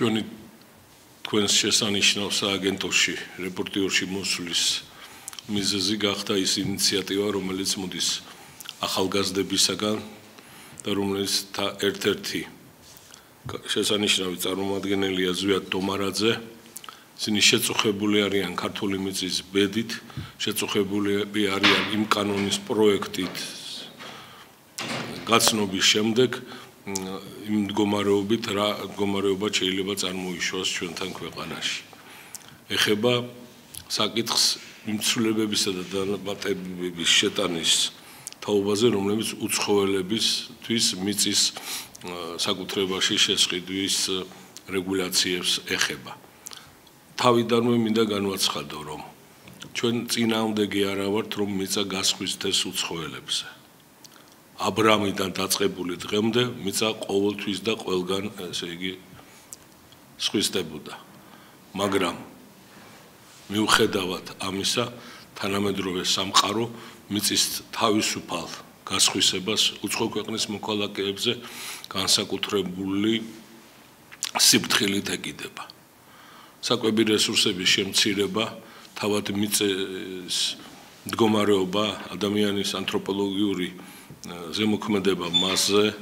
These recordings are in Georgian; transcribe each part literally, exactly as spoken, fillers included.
ჩვენი თქვენს შესანიშნავ სააგენტოში რეპორტიორში მოსვლის მიზეზი გახდა ის ინიციატივა, რომელიც მოდის ახალგაზრდებისაგან და რომელიც ერთ-ერთი შესანიშნავი წარმომადგენელია ზვიად დომარაძე. ისინი შეწუხებული არიან ქართული მიწის ბედით, შეწუხებული არიან იმ კანონის პროექტით გაცნობის შემდეგ იმ მდგომარეობით რა მდგომარეობა შეიძლება წარმოიშვა ჩვენთან ქვეყანაში. ეხება საკითხს მიმცველებებისა და დამატებების შეტანის თაობაზე, რომლებიც უცხოელებისთვის მიწის საკუთრებაში შესყიდვის რეგულაციებს ეხება. თავიდანვე მინდა განვაცხადო, რომ ჩვენ წინააღმდეგი არა ვართ, რომ მიწა გასხვისდეს უცხოელებზე. აბრამიდან დაწყებული დღემდე მიწა ყოველთვის და ყველგან, ესე იგი, სხვისდებოდა. მაგრამ მიუხედავად ამისა, თანამედროვე სამყარო მიწის თავისუფალ გასხვისებას უცხო ქვეყნის მოქალაქეებზე განსაკუთრებული სიფრთხილით ეკიდება. საკვები რესურსების შემცირება, თავად მიწის მდგომარეობა, ადამიანის ანთროპოლოგიური ზემოქმედება მასზე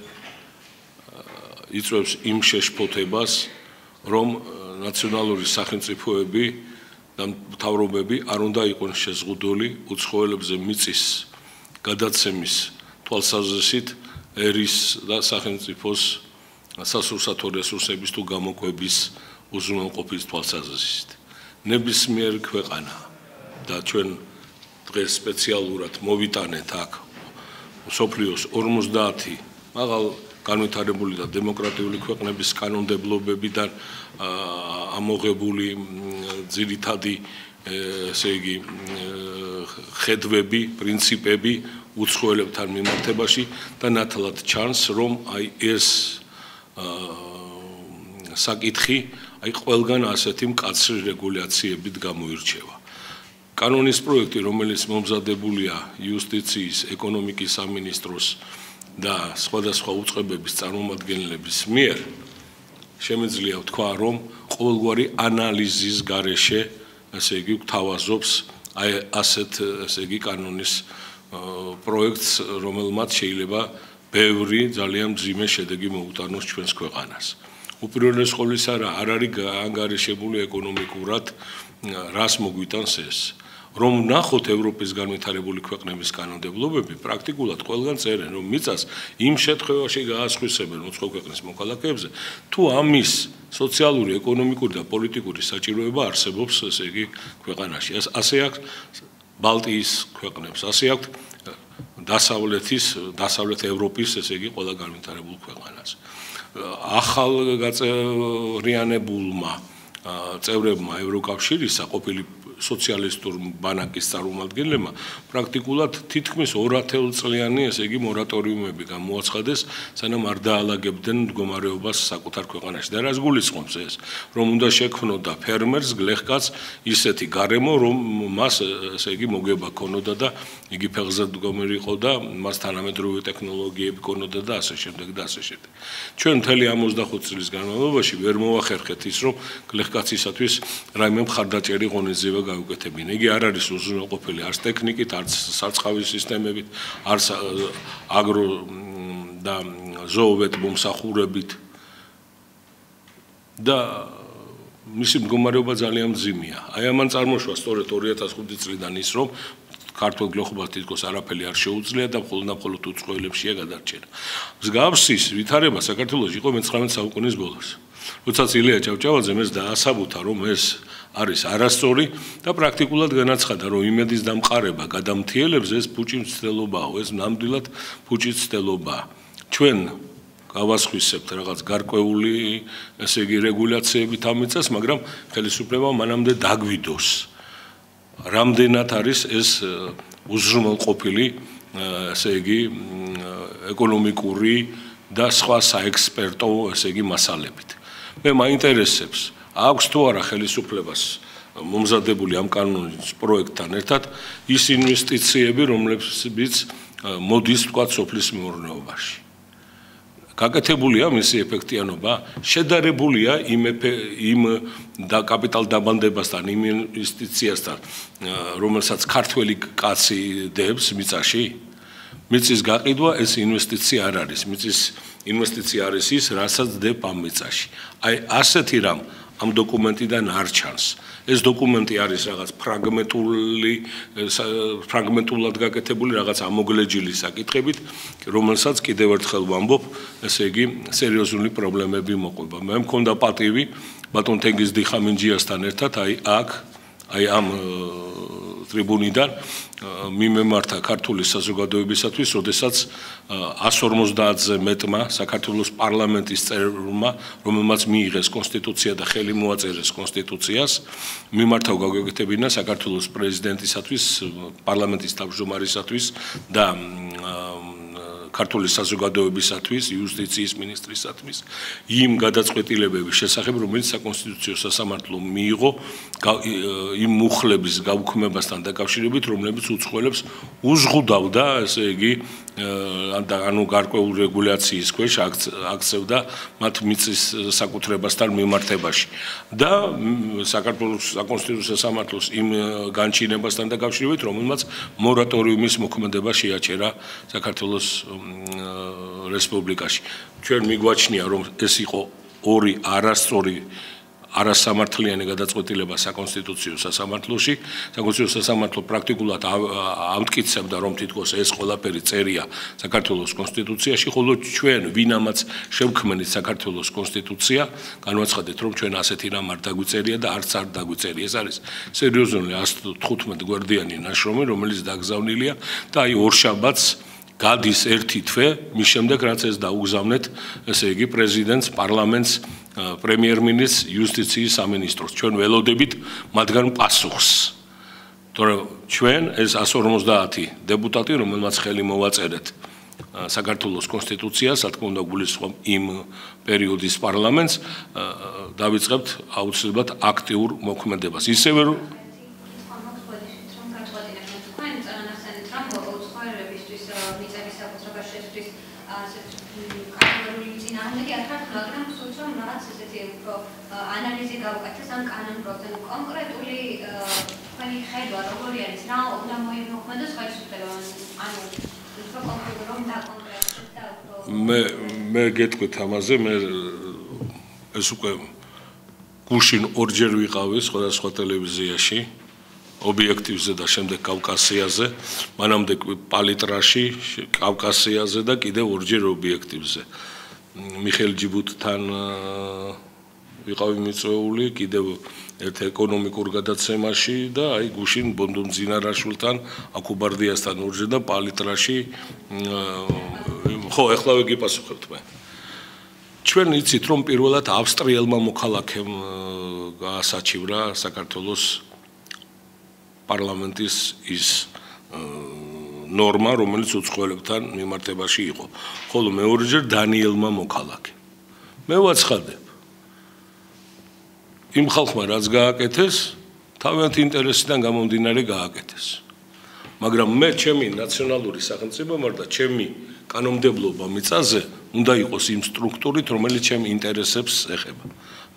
იწვევს იმ შეშფოთებას, რომ ნაციონალური სახელმწიფოები და მთავრობები არ უნდა იყვნენ შეზღუდული უცხოელებზე მიწის გადაცემის თვალსაზრისით ერის და სახელმწიფოს სასურსათო რესურსების თუ გამოკვების უზრუნველყოფის თვალსაზრისით. ნებისმიერ ქვეყანა და ჩვენ დღეს სპეციალურად მოვიტანეთ აქ მსოფლიოს ორმოცდაათი მაღალ განვითარებული და დემოკრატიული ქვეყნების კანონმდებლობებიდან ამოღებული ძირითადი ესე იგი ხედვები, პრინციპები უცხოელებთან მიმართებაში და ნათლად ჩანს, რომ აი ეს საკითხი აი ყველგან ასეთი მკაცრი რეგულაციებით გამოირჩევა. კანონის პროექტი, რომელიც მომზადებულია იუსტიციის, ეკონომიკის სამინისტროს და სხვადასხვა უწყებების წარმომადგენლების მიერ, შემიძლია ვთქვა, რომ ყოველგვარი ანალიზის გარეშე, ესე იგი, გვთავაზობს აი ასეთ, ესე იგი, კანონის პროექტს, რომელმაც შეიძლება ბევრი ძალიან მძიმე შედეგი მოუტანოს ჩვენს ქვეყანას. უპირველეს ყოვლისა არ არის ანგარიშებული ეკონომიკურად, რას მოგვიტანს ეს. რომ ნახოთ ევროპის განვითარებული ქვეყნების კანონმდებლობები, პრაქტიკულად ყველგან წერენ, რომ მიწას იმ შემთხვევაში გაასხვისებენ უცხო ქვეყნის მოქალაქეებზე, თუ ამის სოციალური, ეკონომიკური და პოლიტიკური საჭიროება არსებობს, ესე იგი, ქვეყანაში. ასე აქვს ბალტიის ქვეყნებს, ასე აქვს დასავლეთის, დასავლეთ ევროპის, ესე იგი, ყველა განვითარებულ ქვეყანას. ახალ გაწევრიანებულმა წევრებმა ევროკავშირისა ყოფილი სოციალისტურ ბანაკის წარმომადგენლებმა პრაქტიკულად თითქმის ორ-ათეულწლიანი, ესე იგი, მორატორიუმები გამოაცხადეს, სანამ არ დაალაგებდნენ მდგომარეობას საკუთარ ქვეყანაში. და რას გულისხმობს ეს? რომ უნდა შექმნოდა ფერმერს, გლეხკაცს ისეთი გარემო, რომ მას, ესე იგი, მოგება ქონოდა და იგი ფეხზე მდგომარი იყო და მას თანამედროვე ტექნოლოგიები ქონოდა და ასე შემდეგ და ასე შემდეგ. ჩვენ მთელი ორმოცდახუთი წლის განმავლობაში ვერ მოვახერხეთ ის, რომ გლეხკაცისათვის რაიმე მხარდაჭერი ღონისძიება გაუკეთებინა. იგი არ არის უზრუნველყოფილი არც ტექნიკით, არც სარწყავის სისტემებით, არც აგრო და ზოოვეთ მომსახურებით და მისი მდგომარეობა ძალიან მძიმეა. აი ამან წარმოშვა სწორედ ორი ათას ხუთი წლიდან ის, რომ ქართულ გლეხობას თითქოს არაფერი არ შეუძლია და მხოლოდ და მხოლოდ უცხოელებშია გადარჩენა. მსგავსის ვითარება საქართველოში იყო მეცხრამეტე საუკუნის ბოლოს. როდესაც ილია ჭავჭავაძემ ეს დაასაბუთა, რომ ეს არის არასწორი და პრაქტიკულად განაცხადა, რომ იმედის დამყარება გადამთიელებს ეს ფუჭი მცდელობაა, ეს ნამდვილად ფუჭი მცდელობაა. ჩვენ გავასხვისებთ რაღაც გარკვეული, ესე იგი, რეგულაციებით ამ მიწას, მაგრამ ხელისუფლება მანამდე დაგვიდოს. რამდენად არის ეს უზრუნველყოფილი, ესე იგი, ეკონომიკური და სხვა საექსპერტო, ესე იგი, მასალებით. მე მაინტერესებს, აქვს თუ არა ხელისუფლებას მომზადებული ამ კანონის პროექტთან ერთად ის ინვესტიციები, რომლებიც მოდის თქვა სოფლის მეურნეობაში. გაკეთებულია მისი ეფექტიანობა, შედარებულია იმ იმ და კაპიტალ დაბანდებასთან, იმ ინვესტიციასთან, რომელსაც ქართველი კაცი დებს მიწაში. მიწის გაყიდვა ეს ინვესტიცია არ არის, მიწის ინვესტიცია არის ის, რასაც დებ ამ მიწაში. აი ასეთი რამ ამ დოკუმენტიდან არ ჩანს. ეს დოკუმენტი არის რაღაც ფრაგმენტული ფრაგმენტულად გაკეთებული რაღაც ამოგლეჯილი საკითხებით, რომელსაც კიდევ ერთხელ ვამბობ, ესე იგი სერიოზული პრობლემები მოყვება. მე მქონდა პატივი ბატონ თენგიზ დიხამინჯიასთან ერთად აი აქ აი ამ ტრიბუნიდან მიმემართა ქართული საზოგადოებისათვის, როდესაც εκατს ორმოცდაათზე მეტმა საქართველოს პარლამენტის წევრმა, რომელმაც მიიღეს კონსტიტუცია და ხელი მოაწერეს კონსტიტუციას, მიმართავ გაგვეკეთებინა საქართველოს პრეზიდენტისათვის, პარლამენტის თავმჯდომარისათვის და ქართული საზოგადოებისათვის, იუსტიციის მინისტრისათვის იმ გადაწყვეტილებების შესახებ, რომელიც საკონსტიტუციო სასამართლომ მიიღო იმ მუხლების გაუქმებასთან დაკავშირებით, რომლებიც უცხოელებს უზღუდავდა, ესე იგი, ანუ გარკვეულ რეგულაციის ქვეშ აქცევდა მათ მიწის საკუთრებასთან მიმართებაში. და საქართველოს საკონსტიტუციო სასამართლოს იმ განჩინებასთან დაკავშირებით, რომელმაც მორატორიუმის მოქმედება შეაჩერა საქართველოს რესპუბლიკაში. ჩვენ მიგვაჩნია, რომ ეს იყო ორი არასწორი არასამართლიანი გადაწყვეტილება საკონსტიტუციო სასამართლოში. საკონსტიტუციო სასამართლო პრაქტიკულად ამტკიცებდა, რომ თითქოს ეს ყველაფერი წერია საქართველოს კონსტიტუციაში, ხოლო ჩვენ ვინამაც შევქმნით საქართველოს კონსტიტუცია, განვაცხადეთ, რომ ჩვენ ასეთი რამ არ დაგვიწერია და არც არ დაგვიწერია. ეს არის სერიოზული εκατს თხუთმეტ გვერდიანი ნაშრომი, რომელიც დაგზავნილია და აი ორშაბათს გადის ერთი თვე, მის შემდეგ რაც ეს დაუგზავნეთ, ესე იგი პრეზიდენტს, პარლამენტს, პრემიერ-მინისტრს, იუსტიციის სამინისტროს. ჩვენ ველოდებით მათგან პასუხს. თორემ ჩვენ ეს εκατს ორმოცდაათი დეპუტატი, რომელმაც ხელი მოვაწერეთ საქართველოს კონსტიტუციას, რა თქმა უნდა, გულისხმობ იმ პერიოდის პარლამენტს, დავიწყებთ აუცილებლად აქტიურ მოქმედებას. ისევე ანალიზი გავუკეთეს ამ კანონპროექტთან კონკრეტული თქვენი ხედვა როგორი არის რა უნდა მოიმოქმედოს ხელისუფლებამ ანუ უფრო კონკრეტულად და კონკრეტულად და მე მე გეტყვით ამაზე მე ეს უკვე გუშინ ორჯერ ვიყავი სხვადასხვა ტელევიზიაში ობიექტივზე და შემდეგ კავკასიაზე მანამდე პალიტრაში კავკასიაზე და კიდევ ორჯერ ობიექტივზე მიხეილ ჯიბუტთან ვიყავი მიწვეული კიდევ ერთ ეკონომიკურ გადაცემაში და აი გუშინ ბონდონ ძინარაშვილთან აკუბარდიასთან ორჯერ და პალიტრაში ხო ეხლა ვიგიპასუხებთ მე ჩვენ იცით რომ პირველად ავსტრიელმა მოქალაქემ გაასაჩივრა საქართველოს პარლამენტის ის ნორმა რომელიც უცხოელებთან მიმართებაში იყო ხოლო მეორეჯერ დანიელმა მოქალაქემ მე ვაცხადებ იმ ხალხმა რაც გააკეთეს, თავიანთი ინტერესიდან გამომდინარე გააკეთეს. მაგრამ მე ჩემი ნაციონალური სახელმწიფო მარ და ჩემი კანონმდებლობა მიწაზე უნდა იყოს იმ სტრუქტურით, რომელიც ჩემ ინტერესებს ეხება.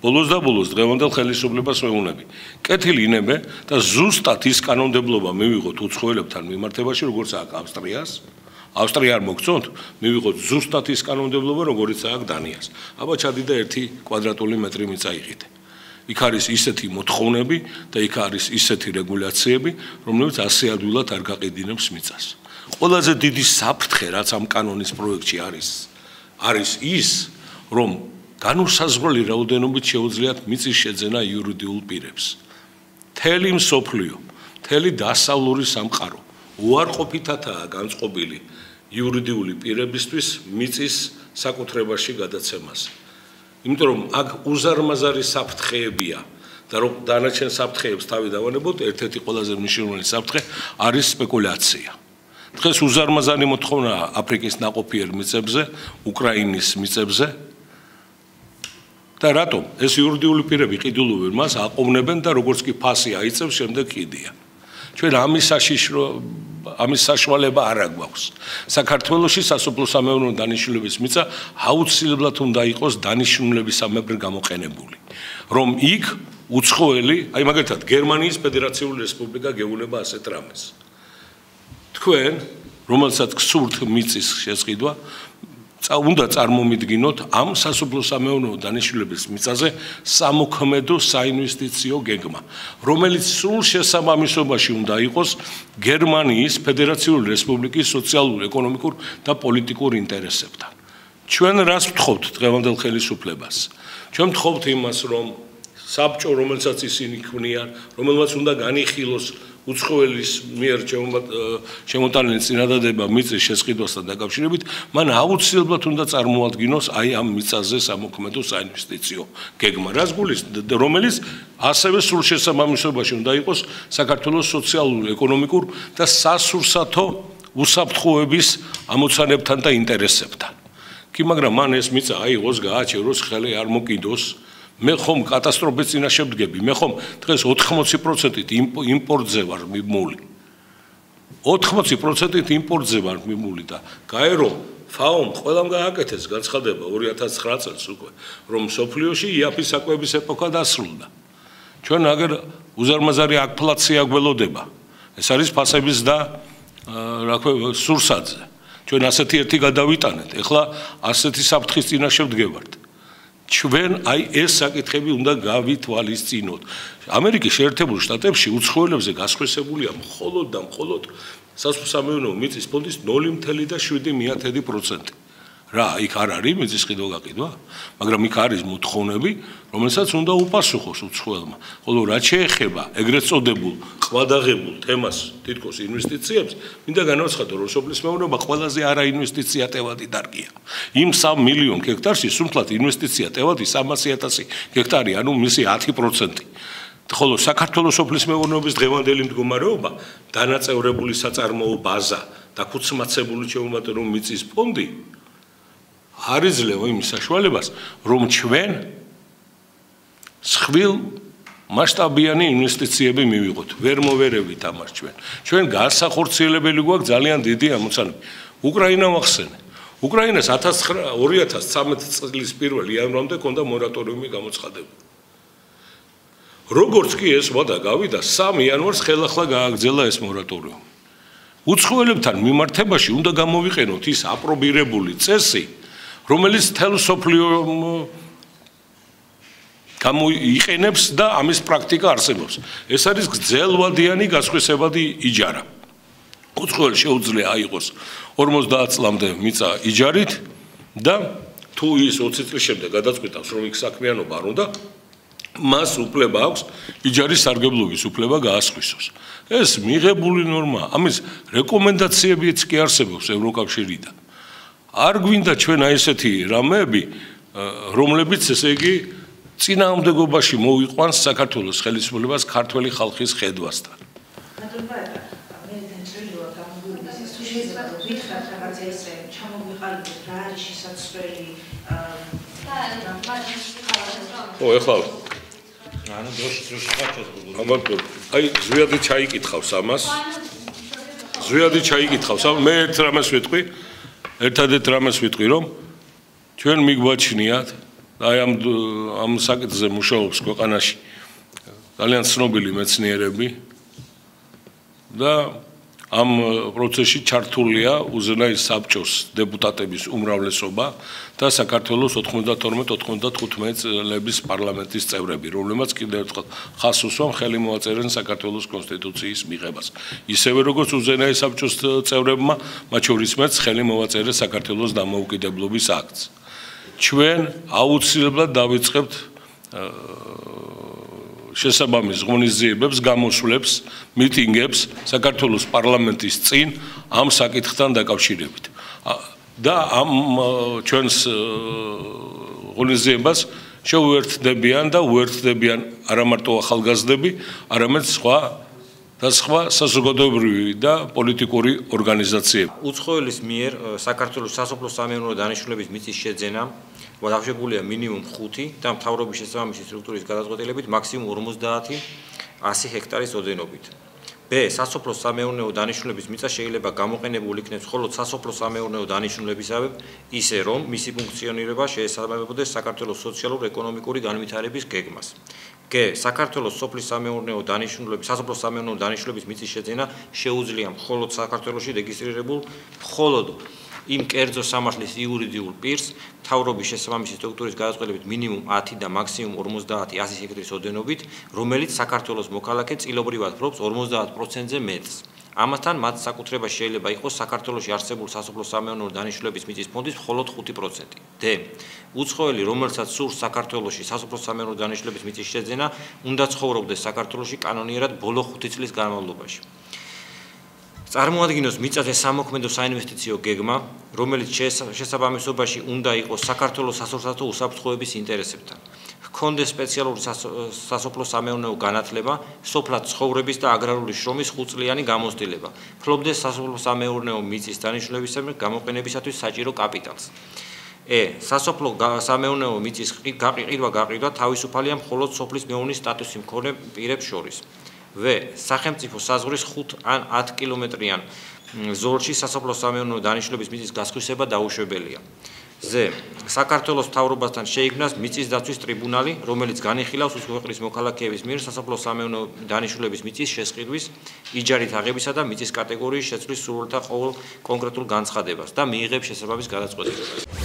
ბოლოს და ბოლოს დღევანდელ ხელისუფლებას ვეუბნები. კეთილი ინებე და ზუსტად ის კანონმდებლობა მივიღოთ უცხოელებთან მიმართებაში, როგორც აქვს ავსტრიას. ავსტრია არ მოგწონთ, მივიღოთ ზუსტად ის კანონმდებლობა, როგორც აქვს დანიას. აბა ჩადიდა ერთი კვადრატული მეტრი მიწა იყიდე. იქ არის ისეთი მოთხოვნები და იქ არის ისეთი რეგულაციები, რომლებიც ასე ადვილად არ გაყიდინებს მიწას. ყველაზე დიდი საფრთხე, რაც ამ კანონის პროექტში არის, არის ის, რომ განუსაზღვრელი რაოდენობით შეუძლიათ მიწის შეძენა იურიდიულ პირებს. მთელი მსოფლიო, მთელი დასავლური სამყარო უარყოფითადაა განწყობილი იურიდიული პირებისთვის მიწის საკუთრებაში გადაცემას. იმიტომ რომ აქ უზარმაზარი საფრთხეებია და რომ დანარჩენ საფრთხეებს თავი დავანებოთ, ერთ-ერთი ყველაზე მნიშვნელოვანი საფრთხე არის სპეკულაცია. დღეს უზარმაზარი მოთხოვნაა აფრიკის ნაყოფიერ მიწებზე, უკრაინის მიწებზე და რატომ? ეს იურიდიული პირები ყიდულობენ მას, აყოვნებენ და როგორც კი ფასი აიწევს, შემდეგ ყიდიან. ჩვენ ამის საშიშრო ამის საშუალება არ აქვს. საქართველოში სასოფლო-სამეურნეო დანიშნულების მიწა აუცილებლად უნდა იყოს დანიშნულებისამებრ გამოყენებული. რომ იქ უცხოელი, აი მაგალითად გერმანიის ფედერაციული რესპუბლიკა გეუნება ასეთ რამეს. თქვენ, რომელსაც გსურთ მიწის შესყიდვა, უნდა წარმომიდგინოთ ამ სასოფლო-სამეურნეო დანიშნულების მიწაზე სამოქმედო საინვესტიციო გეგმა, რომელიც სრულ შესაბამისობაში უნდა იყოს გერმანიის ფედერაციული რესპუბლიკის სოციალურ-ეკონომიკურ და პოლიტიკურ ინტერესებთან. ჩვენ რას ვთხოვთ დღევანდელ ხელისუფლებას? ჩვენ ვთხოვთ იმას, რომ საბჭო, რომელსაც ისინი ქმნიან, რომელმაც უნდა განიხილოს უცხოელის მიერ შემოტანილი წინადადება მიწის შესყიდვასთან დაკავშირებით, მან აუცილებლად უნდა წარმოადგინოს აი ამ მიწაზე სამოქმედო საინვესტიციო გეგმა, რომელიც ასევე სრულ შესაბამისობაში უნდა იყოს საქართველოს სოციალურ-ეკონომიკურ და სასურსათო უსაფრთხოების ამოცანებთან და ინტერესებთან. კი, მაგრამ მან ეს მიწა აიღოს, გააჩეროს, ხელი არ მოკიდოს. მე ხომ კატასტროფის წინაშე ვდგები, მე ხომ დღეს ოთხმოცი პროცენტით იმპორტზე ვარ მიმული. ოთხმოცი პროცენტით იმპორტზე ვარ მიმული და გაერო ფაომ ყველამ გააკეთეს განცხადება ორი ათას ცხრა წელს უკვე, რომ სოფლიოში იაფის საკვების ეპოქა დასრულდა. ჩვენ აგერ უზარმაზარი ინფლაცია გველოდება. ეს არის ფასების და რა ქვია სურსათზე. ჩვენ ასეთი ერთი გადავიტანეთ, ეხლა ასეთი საფრთხის წინაშე ვდგებართ. ჩვენ აი ეს საკითხები უნდა გავითვალისწინოთ. ამერიკის შეერთებულ შტატებში უცხოელებზე გასხვესებულია მხოლოდ და მხოლოდ სასოფლო-სამეურნეო მიწის ფონდის ნული ათეული შვიდი პროცენტი. რა, იქ არ არის მიწის ყიდვა-გაყიდვა, მაგრამ იქ არის მოთხოვნები, რომელსაც უნდა უპასუხოს უცხოელმა. ხოლო რაც შეეხება ეგრეთ წოდებულ ყვადაღებულ თემას, თითქოს ინვესტიციებს, მინდა განაცხადო, რომ სოფლის მეურნეობა ყველაზე არაინვესტიცია ტევადი დარგია. იმ სამ მილიონ ჰექტარში სულთლად ინვესტიცია ტევადი სამასი ათასი ჰექტარი, ანუ მისი ათი პროცენტი. ხოლო საქართველოს სოფლის მეურნეობის დღევანდელი მდგომარეობა, დანაწევრებული საწარმოო ბაზა და ქუცმაცებული შეუმატებელ მიწის ფონდი არ იძლევა იმის საშუალებას, რომ ჩვენ სხვილ მასშტაბიანი ინვესტიციები მივიღოთ. ვერ მოვერევით ამას ჩვენ. ჩვენ განსახორციელებელი გვაქვს ძალიან დიდი ამოცანები. უკრაინა ვახსენე. უკრაინას ორი ათას ცხრამეტი წლის პირველი იანვრამდე ჰქონდა მორატორიუმი გამოცხადებული. როგორც კი ეს ვადა გავიდა, სამი იანვარს ხელახლა გააგრძელა ეს მორატორიუმი. უცხოელებთან მიმართებაში უნდა გამოვიყენოთ ის აპრობირებული წესი, რომელიც თელ სოფლიო გამოიყენებს და ამის პრაქტიკა არსებობს. ეს არის გრძელვადიანი გასხვისებადი იჯარა. უცხოელ შეუძლია აიღოს ორმოცდაათ წლამდე მიწა იჯარით და თუ ის ოცი წლის შემდეგ გადაწყვიტავს, რომ იქ საქმიანობა არ უნდა, მას უფლება აქვს იჯარის სარგებლობის უფლება გაასხვისოს. ეს მიღებული ნორმა, ამის რეკომენდაციებიც კი არსებობს ევროკავშირიდან. არ გვინდა ჩვენ აი ესეთი რამეები, რომლებიც ესე იგი წინააღმდეგობაში მოვიყვანს საქართველოს ხელისუფლებას ქართველი ხალხის ხედვასთან. ო, ეხლა ანუ დროში დროში ხარჯავს. ამიტომ აი ზვიადი ჩაიკითხავს ამას. ზვიადი ჩაიკითხავს. მე ერთ რამეს ვიტყვი. ერთადერთ რამეს ვიტყვი, რომ ჩვენ მიგვაჩნიათ აი ამ ამ საკითხზე მუშაობს ქვეყანაში ძალიან ცნობილი მეცნიერები და ამ პროცესში ჩართულია უზენაის საბჭოს დეპუტატების უმრავლესობა და საქართველოს ოთხმოცდათორმეტ ოთხმოცდათხუთმეტ წლების პარლამენტის წევრები, რომლებმაც კიდევ ერთხელ ხაზს უსვამ ხელი მოაწერენ საქართველოს კონსტიტუციის მიღებას. ისევე როგორც უზენაის საბჭოს წევრებმა, მათ შორის მეც ხელი მოვაწერეს საქართველოს დამოუკიდებლობის აქტს. ჩვენ აუცილებლად დავიწყებთ შესაბამის ღონისძიებებს, გამოსვლებს, მიტინგებს საქართველოს პარლამენტის წინ ამ საკითხთან დაკავშირებით. და ამ ჩვენს ღონისძიებას შეუერთდებიან და უერთდებიან არა მარტო ახალგაზრდები, არამედ სხვა და სხვა საზოგადოებრივი და პოლიტიკური ორგანიზაციები. უცხოელის მიერ საქართველოს სასოფლო-სამეურნეო დანიშნულების მიწის შეძენა დავშებულია მინიმუმ ხუთი და მთავრობის შესაბამისი სტრუქტურის გადაწყვეტილებით მაქსიმუმ ორმოცდაათი ასი ჰექტარის ოდენობით. ბ. სასოფლო-სამეურნეო დანიშნულების მიწა შეიძლება გამოყენებულ იქნებს მხოლოდ სასოფლო-სამეურნეო დანიშნულებისავე, ისე რომ მისი ფუნქციონირება შეესაბამებოდეს საქართველოს სოციალურ-ეკონომიკური განვითარების გეგმას. გ. საქართველოს სოფლის სამეურნეო დანიშნულების, სასოფლო-სამეურნეო დანიშნულების მიწის შეძენა შეუძლია მხოლოდ საქართველოში რეგისტრირებულ მხოლოდ იმ კერძო სამართლის იურიდიულ პირს, მთავრობის შესაბამისი სტრუქტურის გადაწყვეტილებით მინიმუმ ათი და მაქსიმუმ ორმოცდაათი ათი ჰექტარის ოდენობით, რომელიც საქართველოს მოქალაქე წილობრივად ფლობს ორმოცდაათ პროცენტზე მეტს. ამასთან მათ საკუთრებაში შეიძლება იყოს საქართველოში არსებული სასოფლო-სამეურნეო დანიშნულების მიწის ფონდის მხოლოდ ხუთი პროცენტი. დ. უცხოელი, რომელსაც სურს საქართველოში სასოფლო-სამეურნეო დანიშნულების მიწის შეძენა, უნდა ცხოვრობდეს საქართველოში კანონიერად ბოლო ხუთი წლის განმავლობაში. წარმოადგინოს მიწაზე სამოქმედო საინვესტიციო გეგმა, რომელიც შესაბამისობაში უნდა იყოს საქართველოს სასოფლო უსაფრთხოების ინტერესებთან. ჰქონდეს სპეციალური სასოფლო-სამეურნეო განათლება, სოფლად ცხოვრების და აგრარული შრომის ხუთწლიანი გამოცდილება. ფლობდეს სასოფლო-სამეურნეო მიწის დანიშნულებისათვის გამოყენებისათვის საჭირო კაპიტალს. ე. სასოფლო-სამეურნეო მიწის გაყიდვა-გაყიდვა თავისუფალია მხოლოდ სოფლის მეურნის სტატუსი მქონე პირებს შორის. ვ. სახელმწიფო საზღვრის ხუთ ან ათ კილომეტრიან ზოლში სასოფლო-სამეურნეო დანიშნულების მიწის გასხვისება დაუშვებელია. ზ. საქართველოს მთავრობასთან შეიქმნას მიწის დაცვის ტრიბუნალი, რომელიც განიხილავს უცხო ქვეყნის მოქალაქეების მიერ სასოფლო-სამეურნეო დანიშნულების მიწის შესყიდვის, იჯარით აღებისა და მიწის კატეგორიის შეცვლის სურვილთა ყოველ კონკრეტულ განცხადებას და მიიღებს შესაბამის გადაწყვეტილებას.